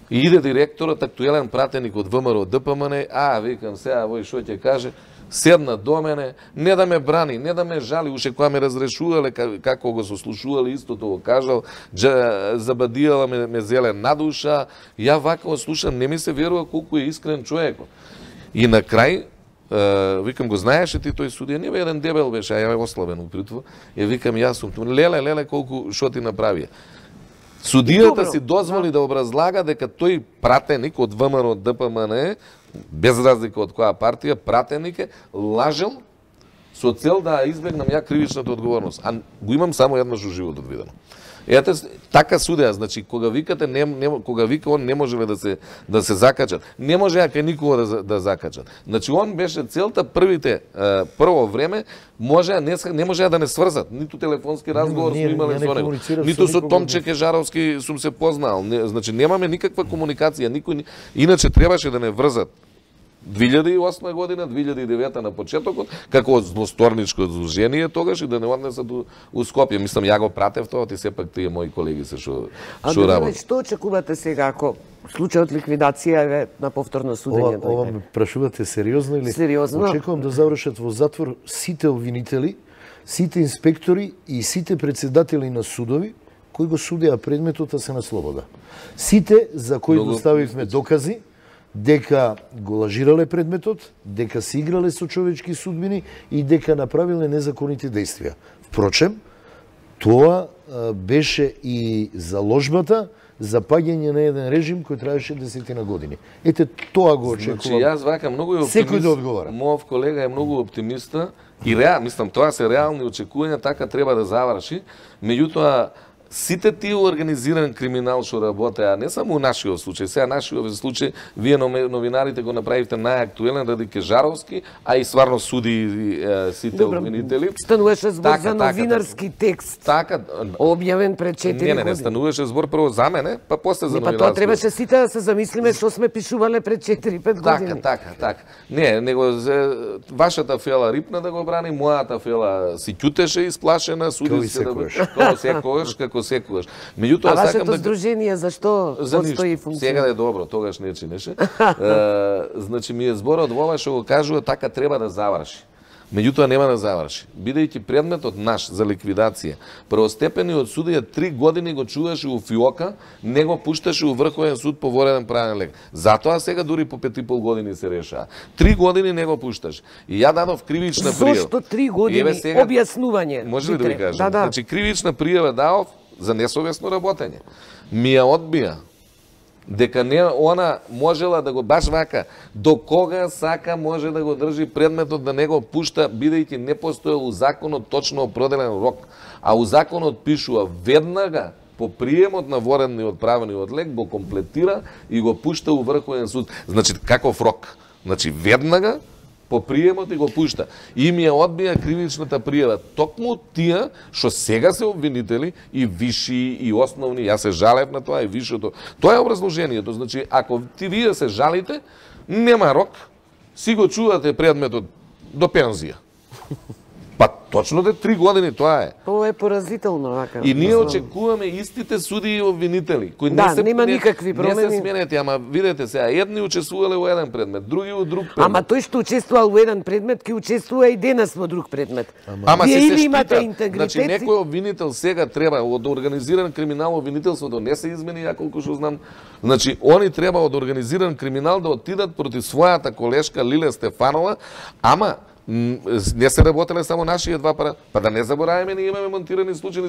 И иде директорот, актуелен пратеник од ВМРО ДПМН, викам сега, вој што ќе каже, седна до мене, не да ме брани, не да ме жали, уште кога ме разрешувале, како го сослушувале, истото го кажал, забадијала ме зеле надуша, ја вака го слушам, не ми се верува колку е искрен човек. И на крај, викам, го знаеше ти тој судија, не бе еден дебел беше, а ја е ослабен упритво, викам, јас сум, леле, колку шо ти направија. Судијата си дозволи да образлага дека тој пратеник од ВМРО од ДПМН, без разлика од која партија, пратеник е, лажел со цел да избегнам ја кривичната одговорност. А го имам само еднаш во животот видено. Ете, така судеа, значи, кога викате, кога вика, он не можеле да се закачат. Не може кај никога да закачат. Значи, он беше целта прво време, не може да не сврзат. Ниту телефонски разговор сме имале со него. Ниту со Томче Кежаровски сум се познал. Значи, немаме никаква комуникација. Иначе требаше да не врзат. 2008 година, 2009 на почетокот, како злосторничко зложение тогаш и да не однесат у Скопје. Мислам, ја го пратев тоа, ти сепак тие мои колеги се што работат. Што очекувате сега, ако случајот ликвидација е на повторно судење? Ова ме прашувате сериозно или? Сериозно. Очекувам да завршат во затвор сите обвинители, сите инспектори и сите председатели на судови кои го судеа предметот, а се на слобода. Сите за кои доставивме докази дека го лажирале предметот, дека се играле со човечки судбини и дека направиле незаконити дејствија. Впрочем, тоа беше и заложбата за паѓање на еден режим кој траеше 10 години. Ете, тоа го очекувам. Значи, јас вака многу е оптимист. Секој да одговара. Мојов колега е многу оптимиста и мислам, тоа се реални очекувања, така треба да заврши. Меѓутоа, сите тие организиран криминал што работеа, не само у нашиот случај, сега нашиот случај, вие новинарите го направивте најактуелен ради Кежаровски, а и стварно суди сите обвинители. Стануваше збор за новинарски текст, објавен пред 4 години. Не, стануваше збор прво за мене, па после за новинарски. Па тоа требаше сите да се замислиме што сме пишувале пред 4-5 години. Така. Не, него вашата фела рипна да го брани, мојата фела си ќутеше исплашена, суди се како секогаш. Меѓутоа, а вашето здружение зашто постои функција? Сега е добро, тогаш не чинеше. Значи, ми е зборот во ова што го кажува, така треба да заврши. Меѓутоа нема да заврши. Бидејќи предметот наш за ликвидација, првостепениот судија 3 години го чуваше у фиока, не го пушташе у Врховен суд по вореден правен лек. Затоа сега дури по 5,5 години се решава. 3 години не го пушташ. И ја дадов кривична пријава. Зошто 3 години? Сега, објаснување. Може ли да ви кажам? Да. Значи, кривична пријава дадов за несовесно работење. Ми ја одбија дека не она можела да го баш вака, до кога сака може да го држи предметот да не го пушта, бидејќи не постоел у законот точно определен рок, а у законот пишува веднага по приемот на воредниот правниот лек го комплетира и го пушта у Врховен суд. Значи, каков рок? Значи, веднага по приемот и го пушта. И ми ја одбија кривичната пријава. Токму тие што сега се обвинители и виши и основни, јас се жалев на тоа и вишото. Тоа е образложението. Значи, ако вие се жалите, нема рок, си го чувате предметот до пензија. Па точно 3 години тоа е. Тоа е поразително, вака. И ние очекуваме истите суди и обвинители, кои нема никакви промени. Не се сменети, ама видете сега, едни учествувале во еден предмет, други во друг предмет. Ама тој што учествувал во еден предмет, ќе учествува и денес во друг предмет. Ама вие се имате штита. интегритет. Значи некој обвинител сега треба од организиран криминал, обвинителството не се измени, ја колку што знам. Значи они треба од организиран криминал да отидат против својата колешка Лиле Стефанова, ама не се работеле само нашите два пара. Па да не забораваме, ние имаме монтирани случаи.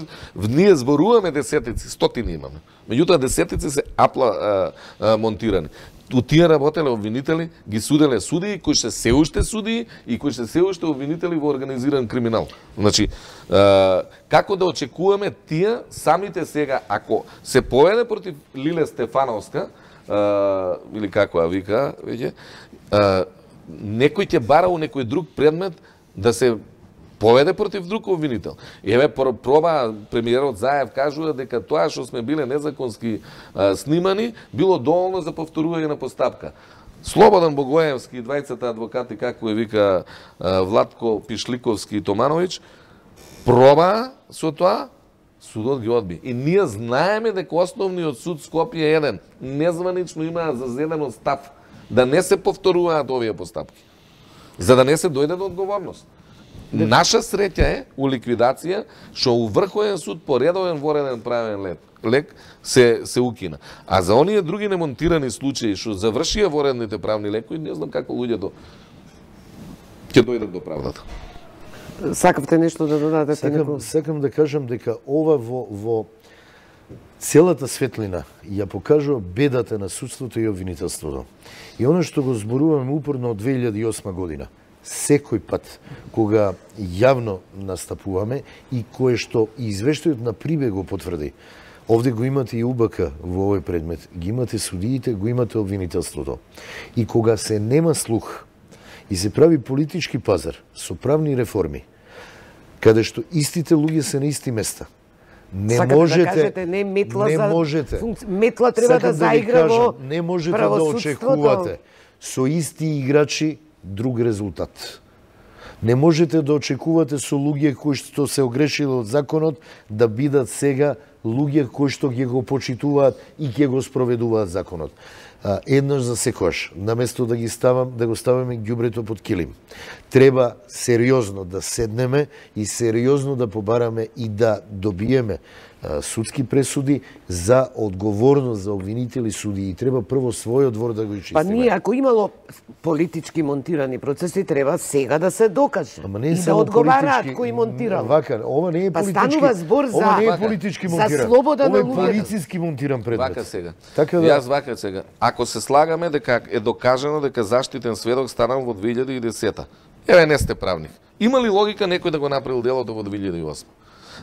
Ние зборуваме десетици, стотини имаме. Меѓутоа десетици се монтирани. У тие работеле обвинители, ги суделе судии, кои се се уште судии и кои се уште обвинители во организиран криминал. Значи, како да очекуваме тие самите сега, ако се поведе против Лиле Стефановска, или како ја вика, веќе, некој ќе бара у некој друг предмет да се поведе против друг обвинител. Еве проба премиерот Заев кажува дека тоа што сме биле незаконски снимани било доволно за повторување на постапка. Слободан Богоевски и двајцата адвокати, како ја вика Владко Пишликовски и Томановиќ, проба со тоа, судот ги одби. И ние знаеме дека основниот суд Скопје е еден. Незванично имаа зазедено став да не се повторуваат овие постапки. за да не се дојде до одговорност. Наша среќа е у ликвидација што у Врховен суд по редовен вореден правен лек се укина. А за оние други немонтирани случаи што завршија воредните правни лекови, не знам како луѓето ќе дојдат до правдата. Сакавте нешто да додадете? Сакам да кажам дека ова во целата светлина ја покажува бедата на судството и обвинителството. И оно што го зборуваме упорно од 2008 година, секој пат кога јавно настапуваме и кое што извештајот на Прибег го потврди, овде го имате и УБК во овој предмет, ги имате судиите, го имате обвинителството. И кога се нема слух и се прави политички пазар со правни реформи, каде што истите луѓе се на исти места, не можете да кажете, не метла не можете. Метла треба да заигра во не можете да очекувате со исти играчи друг резултат. Не можете да очекувате со луѓе кои што се огрешиле од законот да бидат сега луѓе кои што ќе го почитуваат и ќе го спроведуваат законот. Еднаш за секојаш, наместо да го ставаме ѓубрето под килим, треба сериозно да седнеме и сериозно да побараме и да добиеме судски пресуди за одговорност за обвинители судии. Треба прво својот двор да го изчистиме. Па ние, ако имало политички монтирани процеси, треба сега да се докаже. И да одговараат кој монтирал. Вака, ова не е политички. Па станува збор за ова не е политички монтиран. За слобода на луѓето. Ова е полициски монтиран предмет. Вака сега. Така да... Јас вака сега. Ако се слагаме дека е докажано дека заштитен сведок станал во 2010-та. Еве не сте правник. Има ли логика некој да го направил делото во 2008?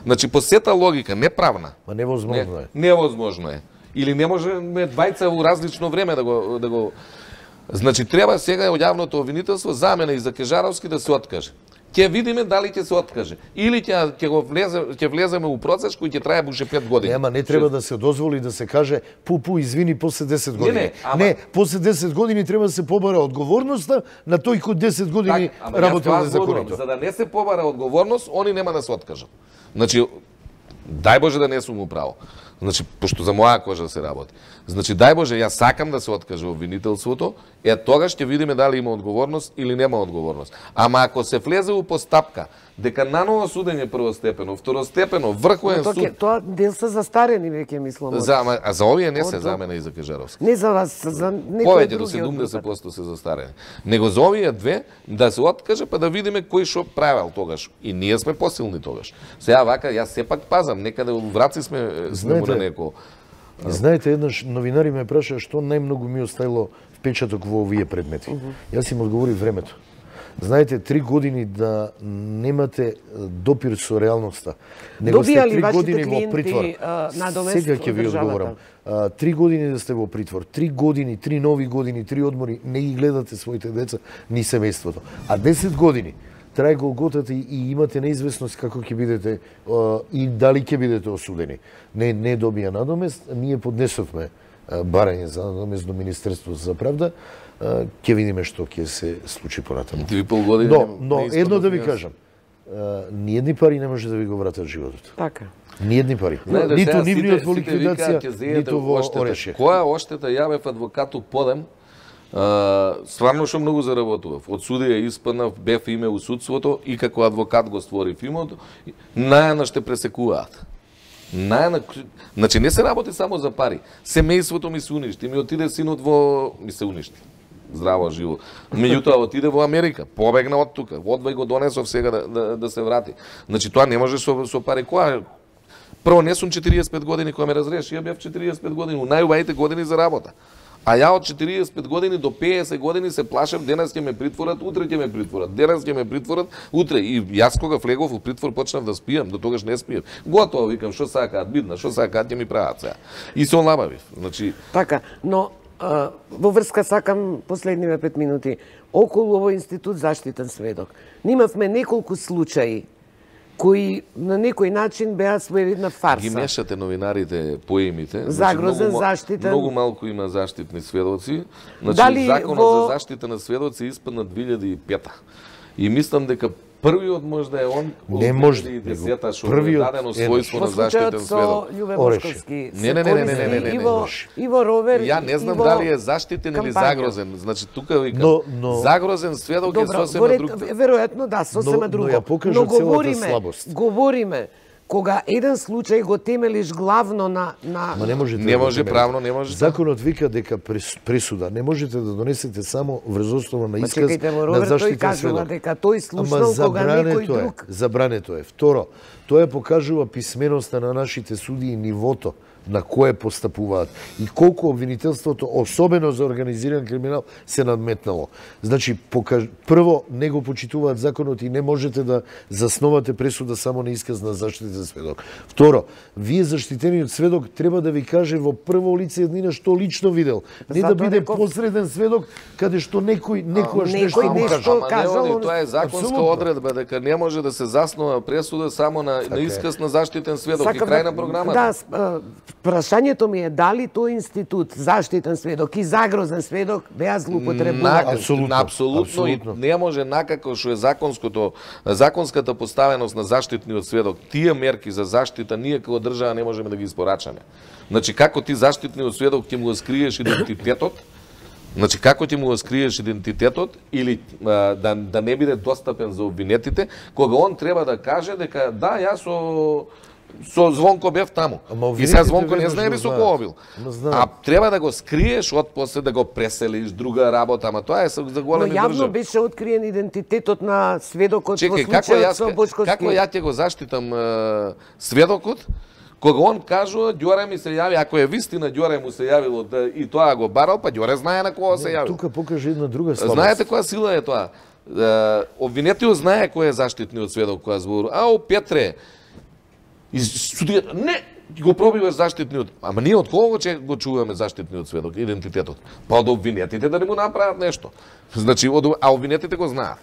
Значи, по сета логика, не правна. Ма невозможно е. Невозможно е. Или не можеме двајца во различно време да го... Значи, треба сега од јавното обвинителство за мене и за Кежаровски да се откаже. Ќе видиме дали ќе се откаже. Или ќе влеземе у процес кој ќе трае буше 5 години. Нема, не треба да се дозволи да се каже извини, после 10 години. Не, после 10 години треба да се побара одговорноста на тој кој 10 години работил незаконито. За да не се побара одговорност, они нема да се откажат. Значи, дај Боже да не сум управо. Значи, пошто за моја кожа се работи. Значи, дај Боже, јас сакам да се откаже обвинителството, тогаш ќе видиме дали има одговорност или нема одговорност. Ама ако се влезе у постапка, дека наново судење првостепено, второстепено, Врховен суд... Тоа дел се застарени веќе, мислам. А за овие не се, за мене и за Кежаровски. Не за вас, за некои повеќе други. до 70% се застарени. Него за овие две да се откаже, па да видиме кој што правел тогаш. И ние сме посилни тогаш. Сега вака, јас сепак пазам, некаде у Враци сме му на неко... Знаете, еднаш новинари ме праша што најмногу ми оставило впечаток во овие предмети. Јас им одговори времето. Знаете, 3 години да немате допир со реалноста. Него сте 3 години во притвор. Сега ќе ви одговорам. 3 години да сте во притвор, 3 години, 3 нови години, 3 одмори, не ги гледате своите деца, ни семејството. А 10 години трае голготата и имате неизвестност како ќе бидете и дали ќе бидете осудени. Не добија надомест, ние поднесовме барање за надомест до Министерството за правда, ќе видиме што ќе се случи понатаму. Но едно да ви кажам, ниедни пари не може да ви го вратат животот. Така. Ниедни пари. Ниту нивниот во ликвидација, ниту во орешје. Која оштета јавев адвокату подем, стварно што многу заработував. Од судија испаднав, бев име у судството и како адвокат го створив имот, најана ще пресекуваат. Значи не се работи само за пари. Семејството ми се уништи, ми отиде синот ми се уништи. Здраво, живо. Меѓутоа отиде во Америка, побегна од тука, одвај го донесов сега да се врати. Значи тоа не може со пари. Прво не сум 45 години кога ме разреши, ја бев 45 години, најубавите години за работа. А ја од 45 години до 50 години се плашев, денес ќе ме притворат, утре ќе ме притворат, денес ќе ме притворат, утре. И јас кога влегов во притвор почнав да спијам, до тогаш не спиев. Готово, викам, што сакаат, бидна, што сакаат ќе ми прават сега. И се олабавив. Значи... Така, но во врска сакам последниве 5 минути. Околу овој институт заштитен сведок. Нимавме неколку случаи кои на некој начин беа своевидна фарса. Ги мешате новинарите поимите. Загрозен, заштитен. Многу малку има заштитни сведоци. Значи, законот за заштита на сведоци испадна 2005-та. И мислам дека Првиот можда е он Не може, 2010-та што е првиот дадено е својство на заштитен сведок. Љубе Бошковски. Не. Иво Ровер. Ја не знам дали е заштитен или загрозен. Значи тука викам загрозен сведок е сосема друг. Веројатно да, сосема друго. Но ја покажа целата слабост. Говориме кога еден случај го темелиш главно на Ма не можете. Не може правно, не може. Законот вика дека пресуда не можете да донесете само врз основа на исказ чекайте, на Роберт, заштитен тој кажува сведок. дека тој слушнал кога некој друг. Забрането е. Второ, тоа покажува писменоста на нашите суди и нивото на кое постапуваат и колку обвинителството, особено за организиран криминал, се надметнало. Значи, прво, не го почитуваат законот и не можете да засновате пресуда само на исказ на заштитен сведок. Второ, вие заштитениот сведок треба да ви каже во прво лице еднина што лично видел. Не да биде посреден сведок каде што некојаш нешто му кажа. Тоа е законска одредба дека не може да се заснова пресуда само на исказ на заштитен сведок и крај на програмата. Да, прашањето ми е дали тој институт заштитен сведок и загрозен сведок беа злоупотребувани. Апсолутно и не може накако што е законската поставеност на заштитниот сведок. Тие мерки за заштита ние како држава не можеме да ги испорачаме. Значи како ти заштитниот сведок ќе му скриеш идентитетот? Значи како ти му скриеш идентитетот или да не биде достапен за обвинетите, кога он треба да каже дека да, јас со Звонко бев таму. И сега Звонко не знае ли со кого бил. А треба да го скриеш од после да го преселиш друга работа, ама тоа е за големи држави. Но јавно беше откриен идентитетот на сведокот во случајот со Бошковски. Како ја ќе го заштитам сведокот? Кога он кажува, Ѓоре ми се јави, ако е вистина Ѓоре му се јавило и тоа го барал, па Ѓоре знае на кого се јавил. Тука покаже една друга слабост. Знаете која сила е тоа? Обвинетиот знае кој е заштитниот сведок која зборува. Ау, Петре, судијата, не, го пробиваш заштитниот. Ама ние од кого го чуваме заштитниот сведок, идентитетот? Па од обвинетите да не му направат нешто. Значи, а обвинетите го знаат.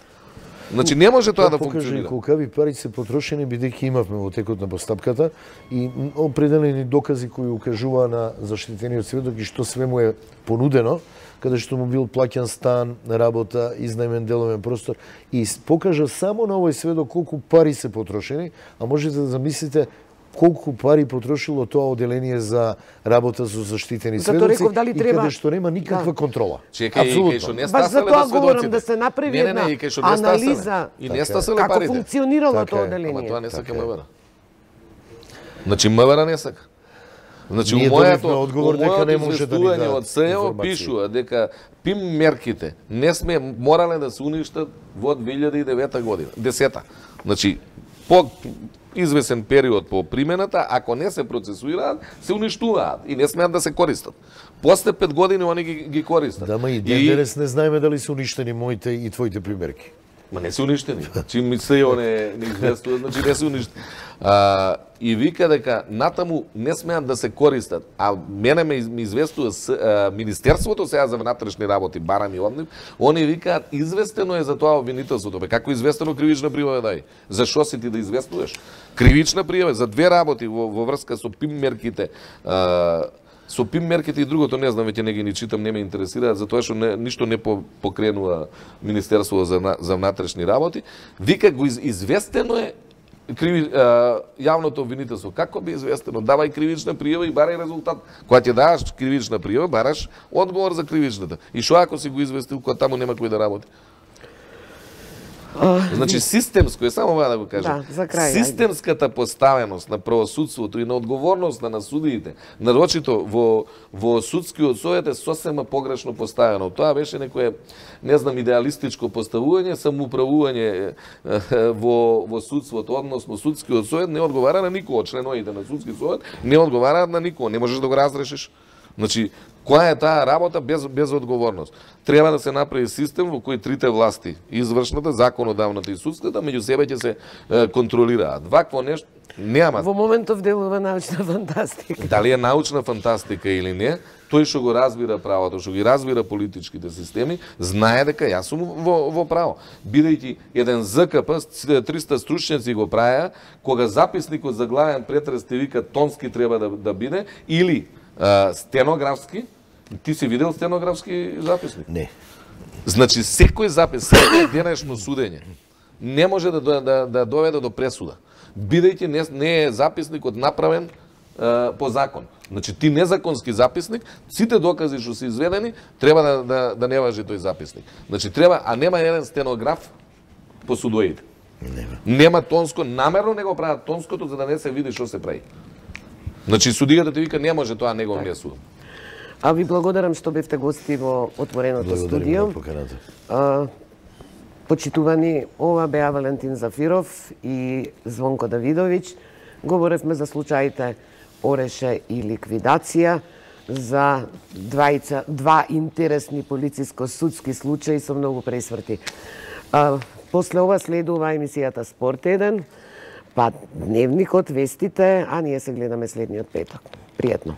Значи не може тоа да функционира. Колкави пари се потрошени бидејќи имавме во текот на постапката и определени докази кои укажуваа на заштитениот сведок и што све му е понудено, каде што му бил плаќан стан, работа, изнајмен деловен простор и покажа само на овој сведок колку пари се потрошени, а можете да замислите колку пари потрошило тоа оделение за работа со заштитени сведоци и каде што нема никаква контрола. Чекај, што не стасале тоа говорам да се направи една анализа како функционирало тоа оделение. Ама тоа не сака МВР. Значи МВР не сака. Значи у моето известување од СЕО пишува дека ПИМ мерките не сме морале да се уништат во 2009 година, 10-та. Значи по извесен период по примената, ако не се процесуираат, се уништуваат и не смеат да се користат. После 5 години они ги користат. Да, ма и денес не знаеме дали се уништени моите и твоите примерки. Ма не се уништени. Чим ми се не известува, значи не се уништени. И вика дека натаму не смеат да се користат. А мене ми известува Министерството сега за внатрешни работи, барам и од нив, они викаат известено е за тоа обвинителството. Бе, како известено кривична пријава дај? Зашо си ти да известуваш? Кривична пријава за две работи во врска со ПИМ мерките. Со ПИМ мерките и другото не знам, веќе не ги читам, не ме интересираат, затоа што ништо не покренува Министерството за внатрешни работи. Вика го известено е јавното обвинителство. Како би известено? Давај кривична пријава и барај резултат. Кога ќе даваш кривична пријава, бараш одговор за кривичната. И што ако си го известил, кога таму нема кој да работи? Значи системско е, само ова да го кажам. Да, за крај, системската поставеност на правосудството и на одговорноста на судиите, нарочито во судскиот совет е сосема погрешно поставено. Тоа беше некое, не знам, идеалистичко поставување, самоуправување во судството, односно судскиот совет не одговара на никого, членовите на судски совет не одговараат на никого, не можеш да го разрешиш. Значи, која е таа работа без одговорност? Треба да се направи систем во кој трите власти, извршната, законодавната и судската, меѓу себе ќе се контролираат. Вакво нешто нема. Во моментов делува научна фантастика. Дали е научна фантастика или не, тој што го разбира правото, што ги разбира политичките системи, знае дека јас сум во право. Бидејќи еден ЗКП, 300 стручњаци го правеа, кога записникот за главен претрес те вика тонски треба да биде, или стенографски. Ти си видел стенографски записник? Не. Значи секој запис, секој денешно судење, не може да доведе до пресуда, бидејќи не е записникот направен по закон. Значи, ти незаконски записник, сите докази што се изведени, треба да не важи тој записник. Значи, треба, а нема еден стенограф по судоите. Нема тонско, намерно не го прават тонското, за да не се види што се прави. Значи, судијата ти вика, не може тоа, не го внесувам. А ви благодарам што бевте гости во отвореното студио. Почитувани, ова беа Валентин Зафиров и Звонко Давидовиќ. Говоревме за случаите Ореше и ликвидација, за два интересни полициско-судски случаи со многу пресврти. После ова следува емисијата Спорт 1, па Дневникот, вестите, а ние се гледаме следниот петок. Пријатно.